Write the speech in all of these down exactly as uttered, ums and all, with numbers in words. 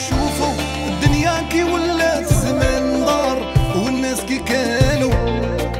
شوفوا الدنيا كي ولات زمان دار والناس كي كانوا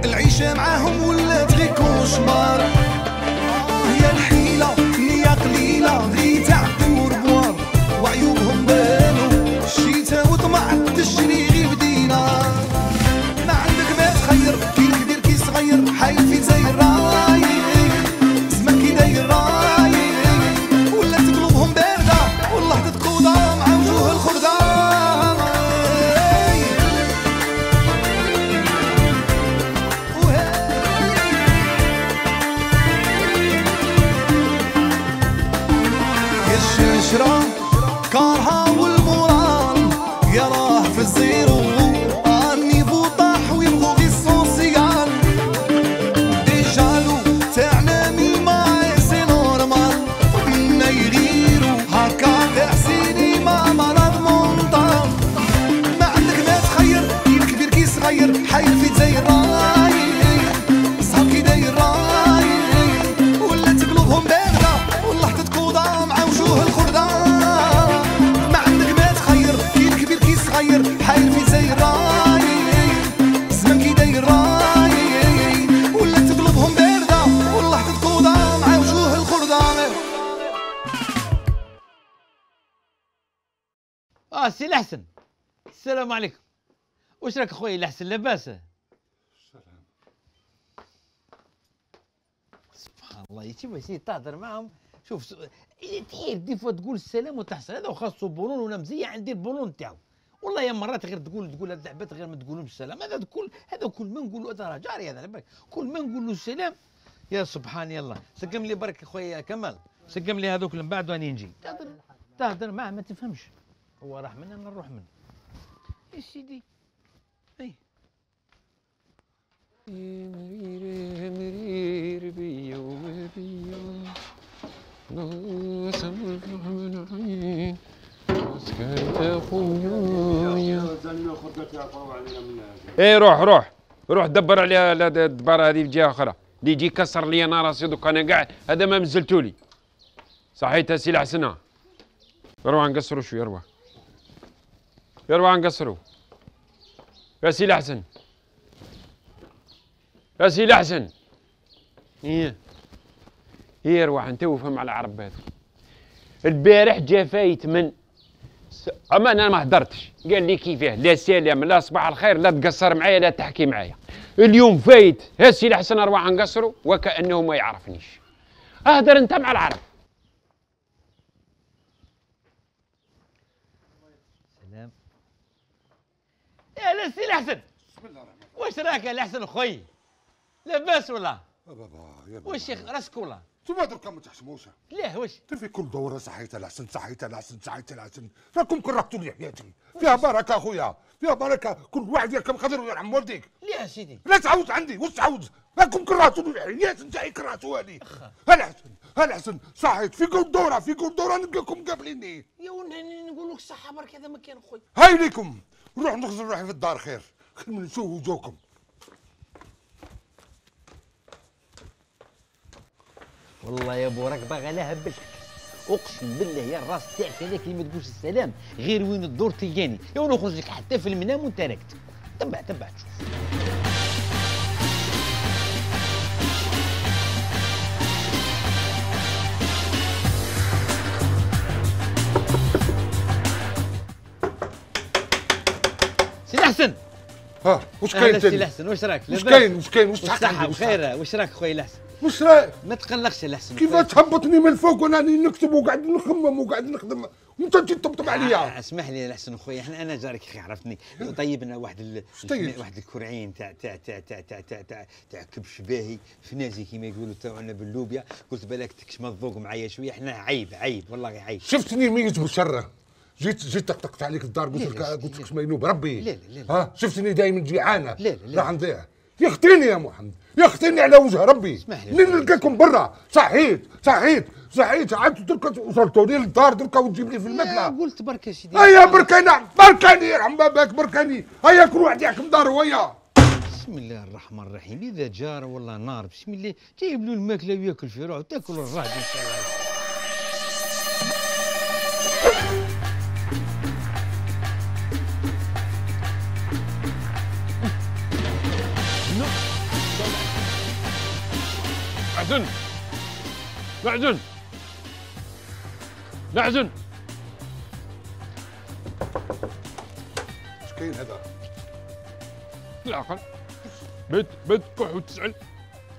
العيشه معاهم ولات غير كوشمار. يا الحيله نيه قليله غير تعبوا ربوار وعيوبهم بانوا الشيتا وطمع تشري غير بدينار. ما عندك ما تخير كي كبير كي صغير حايل في زي الراي اسمك كي داير راي ولات قلوبهم بارده والله تتقوضى مع وجوه الخردة. الشرشرة كارها والمورال يراه في الزيرو النيفو طاح ويبغوا غي السوسيال ديجالو تاعنا ميما سي نورمال بينا يغيرو هكا تاع سينما مرض مونطال. ما عندك ما تخير كي الكبير كي صغير حايل في زي الراي صحاب كي داير راي ولات قلوبهم بارده والله تتقوضى مع وجوه الخردة. ما عندك ما تخير كي الكبير كي صغير حايل في زي الراي زمان كي داير راي ولات قلوبهم بارده والله تتقوضى مع وجوه الخردة. اه سي الحسن السلام عليكم. واش راك خويا الحسن لاباس؟ سلام. سبحان الله يا شوف سي تهضر معاهم شوف س... تحير دي فوا تقول السلام وتحصل هذا وخاصو بولون ولا مزيه عندي البولون تاعو. والله يا مرات غير تقول تقول هاد العباد غير ما تقولهمش السلام. هذا كل هذا كل ما نقولوا هذا راه جاري هذا بالك كل ما نقولوا السلام يا سبحان الله. سقم لي برك خويا كمال سقم لي هذوك من بعد واني نجي تهضر تهضر معاه ما تفهمش هو راح من انا نروح منه يا سيدي. اي ايه روح روح روح دبر عليها الدبارة هذه في جهة أخرى اللي يجي يكسر لي أنا راسي دوك أنا قاعد هذا ما مزلتولي صحيت سي الحسنة. يروح نقصروا شوية يروح يروح نقصروا يا سي الحسن يا سي الحسن. ايه ايه روح انت وفهم على العرب هذا. البارح جا فايت من س... اما انا ما هدرتش قال لي كيفاه لا سلام لا صباح الخير لا تقصر معايا لا تحكي معايا. اليوم فايت ها سي الحسن اروح نقصروا وكانه ما يعرفنيش. اهدر انت مع العرب. سلام يا لا سي الحسن. بسم الله الرحمن الرحيم. واش راك يا الحسن خوي لاباس ولا؟ يا بابا يا بابا واش راسك ولا؟ انتوما دركا ما تحشموش. ليه واش؟ في كل دوره صحيت الحسن صحيت الحسن صحيت الحسن راكم كرهتوا لي حياتي. فيها بركه اخويا فيها بركه كل واحد يركب قدر ويرحم والديك. ليه يا سيدي؟ لا تعاود عندي واش تعاود راكم كرهتوا لي حياتي نتاعي كرهتوها لي. الحسن الحسن صحيت في كل دوره في كل دوره نلقاكم قابليني. يا ولدي نقول لك الصحه برك هذا ما كان خويا. هاي ليكم نروح نغزل روحي في الدار خير خير من نشوف وجوهكم. والله يا بو راك باغي لها بالك اقسم بالله يا الراس تاعك هذاك اللي ما تقولش السلام غير وين الدور تلقاني يا نخرج لك حتى في المنام وانت راكد. تبع تبع تشوف. سي الحسن. ها واش كاين سي الحسن واش راك؟ واش كاين واش كاين واش تحق صحة بخير واش راك خويا الحسن؟ واش رايك؟ ما تقلقش الحسن. كيف تهبطني من الفوق وانا راني نكتب وقاعد نخمم وقاعد نخدم وانت تجي تطبطب عليا. آه اسمح لي الحسن خويا احنا انا جارك اخي عرفتني طيبنا واحد ال... واحد الكرعين تاع تاع تاع تاع تاع تاع تاع تاع كبش باهي فنازي كيما يقولوا تاعنا باللوبيا. قلت بالك تكشم الذوق معايا شويه احنا عيب عيب والله عيب. شفتني ميت بالشره جيت جيت طقطقت عليك الدار قلت لك قلت لك مينوب ربي. لا لا لا ها شفتني دايما جيعانه. لا لا لا راح نضيع يختيني يا محمد يختيني على وجه ربي. اسمح لي منين نلقاكم برا صحيت صحيت صحيت عاد دركا وصلتوا لي للدار دركا وتجيب لي في المثله. قلت بركه سيدي. هيا بركاني بركاني يرحم باباك بركاني هيا كل واحد يحكم داره ويا. بسم الله الرحمن الرحيم. اذا جار والله نار بسم الله جايب له الماكله وياكل في روحه تاكل الراجل ان شاء الله. لحسن لحسن لحسن اش كاين هذا؟ العقل بيت بيت كح وتسأل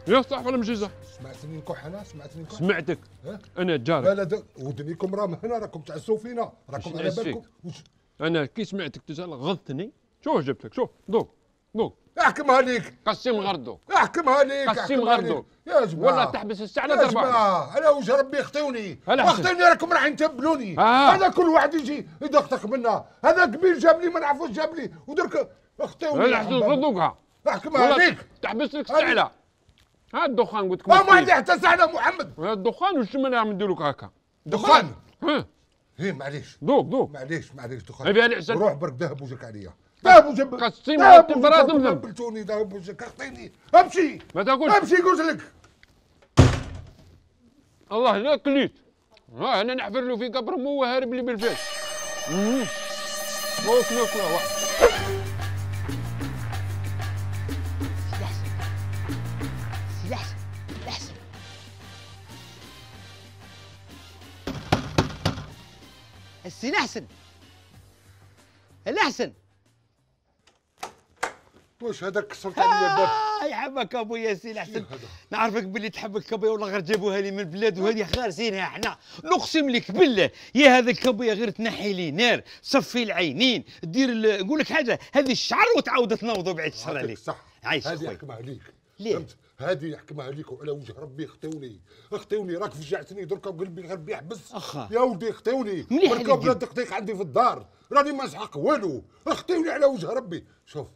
يا صح ولا ماشي صح؟ سمعتني نكح انا؟ سمعتني نكح؟ سمعتك ها؟ انا جارك لا لا ودنيكم راهم هنا، راكم تعسوا فينا، راكم على نعس بالكم. فيك؟ وش- انا كي سمعتك تسأل غضتني. شوف جبت لك شوف دوق دوق احكمها ليك، قسم غردو احكمها ليك، قسم احكمها غردو ليك. يا جماعه ولا تحبس الساعة لا يا ضربة جماعه على وجه ربي اخطوني هلا حسن. اخطوني، راكم راح تبلوني. آه. هذا كل واحد يجي يدقدق منا، هذا قبيل جاب لي ما نعرفوش جاب لي ودرك اخطوني. لا حسن غضوقها احكمها ولا ليك. تحبس لك الساعة. ها الدخان قلت لك ما عندي حتى ساعه محمد. هذا الدخان وش ما نعمل ندير لك هكا دخان. ها ايه معليش دوق دوق معليش معليش دخان. هذه العسل. روح برك ذهب وجهك عليا، ذهب وجهك. قسيم ذهب غطي وجهك، براد مذنب. قبلتوني ذهب وجهك اخطيني. امشي ما تاكلش امشي قلت لك. الله لا كليت. ها انا نحفر له في قبر مو هارب لي بالفاس. امم وكل كل واحد سي لحسن لحسن السي لحسن لحسن واش هذا كسرت عليا الباب؟ آه يحبك ابويا سي لحسن. شنو هذا؟ نعرفك باللي تحبك ابويا، والله غير جابوها لي من البلاد وهذه خارسينها احنا. نقسم لك بالله يا هذاك ابويا غير تنحي لي نار، صفي العينين، دير ال- نقول لك حاجه، هذه الشعر وتعاود تنوضوا بعد الشهر عطيك عليك. صح. عايش هذه خويا. يحكمها عليك. ليه؟ فهمت؟ هذه يحكمها عليك وعلى وجه ربي اخطوني اخطوني، راك فجعتني دركا وقلبي غير بيحبس. أخا. يا ولدي اخطوني، مليح بركا عليك بلا جد. دقيق عندي في الدار، راني ما نسحق والو، اخطوني على وجه ربي. شوف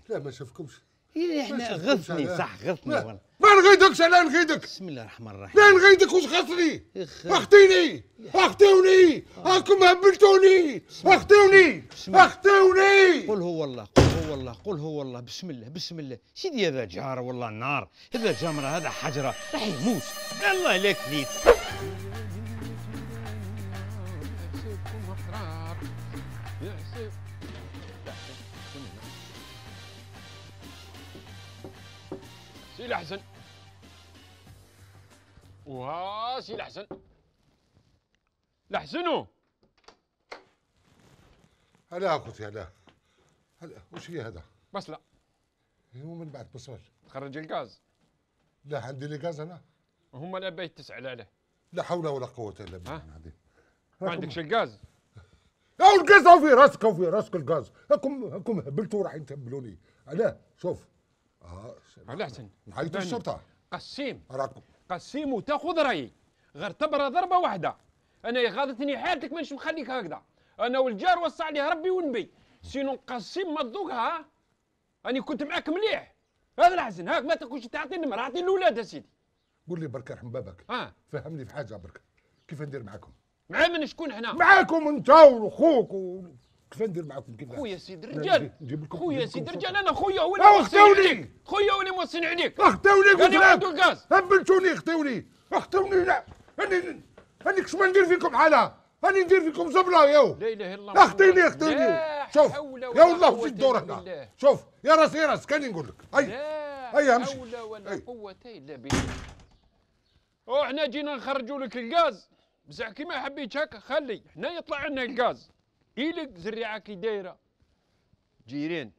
لا ما شافكمش. إيه احنا ما شفتكمش غثني أنا. صح غثني لا. والله. ما نغيدكش انا نغيدك. بسم الله الرحمن الرحيم. لا نغيدك واش خاصني؟ إخ. اخطيني اخطوني راكم هبلتوني اخطوني اخطوني. قل هو الله قل هو الله قل هو الله بسم الله بسم الله. سيدي هذا جار والله النار، هذا جمره هذا حجره راح يموت. الله لا كليت. يحسبكم احرار يحسب سي الحسن وها سي الحسن لحسنو هلا اخوتي هلا هلا وش هي هذا؟ بس لا هو من بعد بصمج. تخرج الغاز لا عندي لي غاز انا. هم الابايت تسأل عليه. لا حول ولا قوة الا بالله ها؟ العظيم. ما عندكش الغاز. او الغاز هو في راسك هو في راسك الغاز، راكم راكم هبلتوا راح تهبلوني. علاه؟ شوف. اه الحسن نعيطوا الشرطة. قسيم راكم قسيم وتاخذ رايي غير تبرى ضربه واحده. انا غاضتني حالتك مانيش مخليك هكذا. انا والجار وصى عليه ربي والنبي، سينو قسيم ما تذوقها. راني كنت معاك مليح. هذا الحسن هاك ما تاكلش تعطي النمر، اعطي الاولاد يا سيدي. قول لي برك رحم بابك. ها فهمني في حاجة برك. كيف ندير معاكم؟ مع من شكون هنا؟ معاكم انت واخوك و... كيف ندير معاكم كيف؟ خويا سيدي لا، الرجال نجيب لكم- خويا نجيب لكم سيدي فرصة. الرجال انا خويا هو أو اللي موصين اختوني. عليك. خويا هو اللي موصين عليك. اخطوني قلت قال لي عنده لك الغاز. هبلتوني اخطوني اخطوني. لا راني راني كش ما ندير فيكم حالة، راني ندير فيكم زبلة ياو. لا اله الا الله. اخطيني اخطيني. لا شوف حول يا ولا والله قوة وش الدور إلا هنا. بالله. شوف يا راس يا راس كاني نقول لك هاي لا هيا امشي. حول ولا هي. قوة إلا بالله. وإحنا جينا نخرجوا لك الغاز، بصح كيما حبيت هكا خلي، حنا يطلع لنا الغاز. إيلك زريعة كي دايرة. جيران.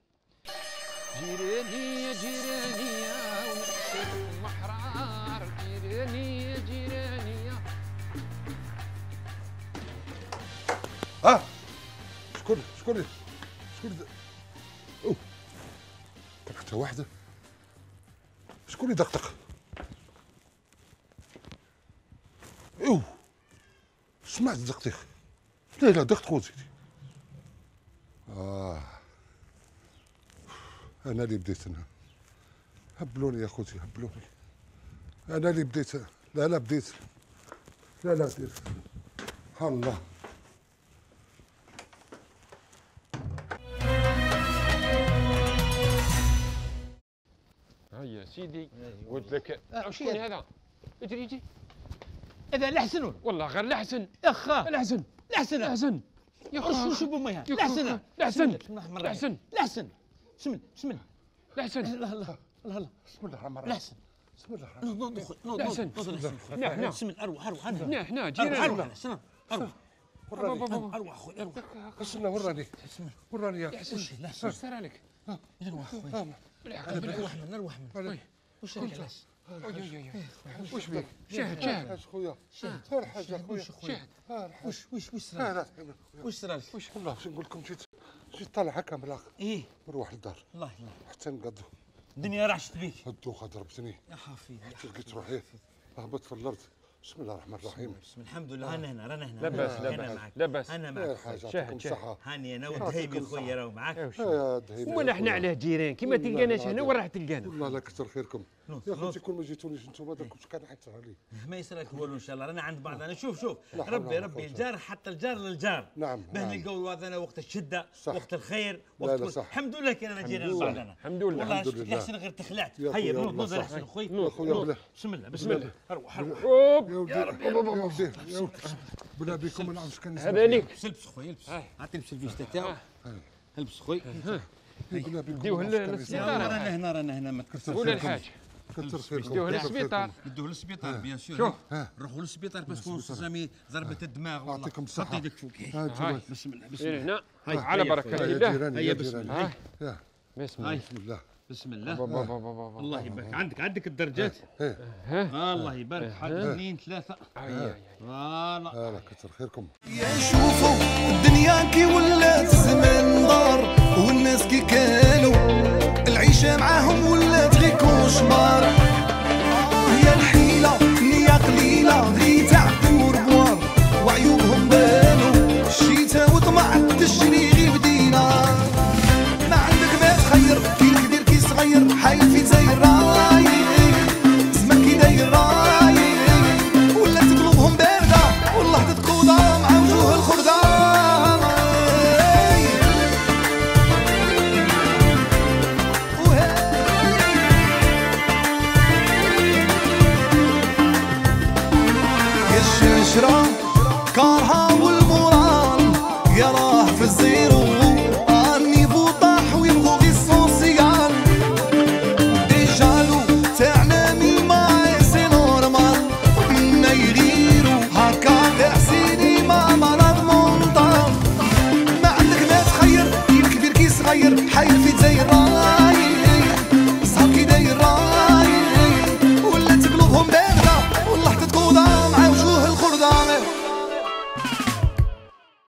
جيراني يا جيراني يا ونحسبكم أحرار، جيراني يا جيراني يا. ها شكون شكون شكون ذا- اوه كان حتى واحدة. شكون اللي دقدق؟ اوه سمعت دقدق. لا لا دقدقوا سيدي. اه انا اللي بديت انا. هبلوني يا خوتي هبلوني. انا اللي بديت. لا لا بديت. لا لا بديت. الله. هيا سيدي قلت لك شكون هذا؟ اجري اجري. هذا لحسن والله غير الحسن. اخا الحسن لحسن الحسن يا شو خو شو بميها يا لحسن خو- لحسن. بسم الله الرحمن الرحيم. لحسن. لحسن بسم الله بسم الله الحسن الله الله الله الله بسم الله الرحمن الرحيم. لحسن بسم الله نوض نوض خويا نوض لا، نوض حسن. نوض حسن هنا هنا بسم الله اروح اروح انا هنا هنا اروح جينا اروح انا اروح وراني اروح خويا اروح استنى وراني وراني يا حسن لا واش صار لك؟ اروح خويا نروح من نروح من واش راك علاش واش بك؟ شاهد شاهد حاج خويا غير حاجه خويا شاهد واش واش واش لا صرا لا واش صرا لك واش والله باش نقول لكم جيت جيت طالع هكا من الاخر ايه نروح للدار الله الله حتى نقضوا الدنيا رعشت بيك الدوخه ضربتني يا حفيظي حتى لقيت روحي هبط في الارض بسم الله الرحمن الرحيم بسم الحمد لله رانا هنا رانا هنا لاباس أنا لاباس معك. لاباس انا غير معك حاجه شاهد، يعطيكم شاهد. الصحه هاني انا ودهيمي خويا راهو معاك يا دهيمي ولا احنا على جيران كيما تلقاناش هنا وين راح تلقانا؟ والله لا كثر خيركم نوض، يا نوض. خوتي كون ما جيتونيش انتم هذا كنت كان حيت علي ما يصيرك والو ان شاء الله رانا عند بعضنا شوف شوف لا حول ربي ولا ربي قوة. الجار حتى الجار للجار نعم، باه نعم. نلقاو بعضنا وقت الشده صح. وقت الخير لا، وقت لا، كل- صح. الحمد لله كان جينا الحمد لله. لبعضنا الحمد لله. والله الحمد شفت لله. احسن غير تخلعت يا هيا خويا نوض والله نوض صح. احسن خويا يا خويا نوض. بلا. بسم الله بسم الله اروح اروح اوب يا ولدي يا ولدي يا ولدي بلا بكم ما نعرفش كان هذا ليك لبس لبس خويا لبس عطي لبس الفيشتا تاعو لبس خويا بلا بكم ديوه ما نعرفش كان للسبيطار. يسمع. رانا هنا رانا هنا ما تكسرش ولا الحاج كثر خيركم ديوه كثر للسبيطار خيركم. ندوه للسبيطار بيان سور شوف. نروحوا للسبيطار باسكو سامي ضربة الدماغ والله يعطيكم الصحة. حط يدك فوق ها انتم بسم الله بسم هنا الله هنا هيا، على هيا، بركه يا الله جيراني هيا يا بسم جيراني الله. يا بسم هاي. الله بسم الله بسم با- الله با- با- با- با- با. الله يبارك عندك عندك الدرجات ايه ها الله يبارك حاجه اثنين ثلاثه أي- أي- أي. فوالا هلا كثر خيركم يا شوفوا الدنيا كي ولات الزمان دار والناس كي كانوا العيشة معاهم ولات غير كوشمار آه يا الحيلة نية قليلة غير تعبوا ربوار وعيوبهم بانوا الشيتا وطمع تشري غير بدينار ما عندك ما تخير كي كبير كي صغير حايل في زي الراي زمان كي داير راي ولات قلوبهم باردة والله تتقوضى مع وجوه الخردة يا الشنشرة كارها والمورال يا راه في الزين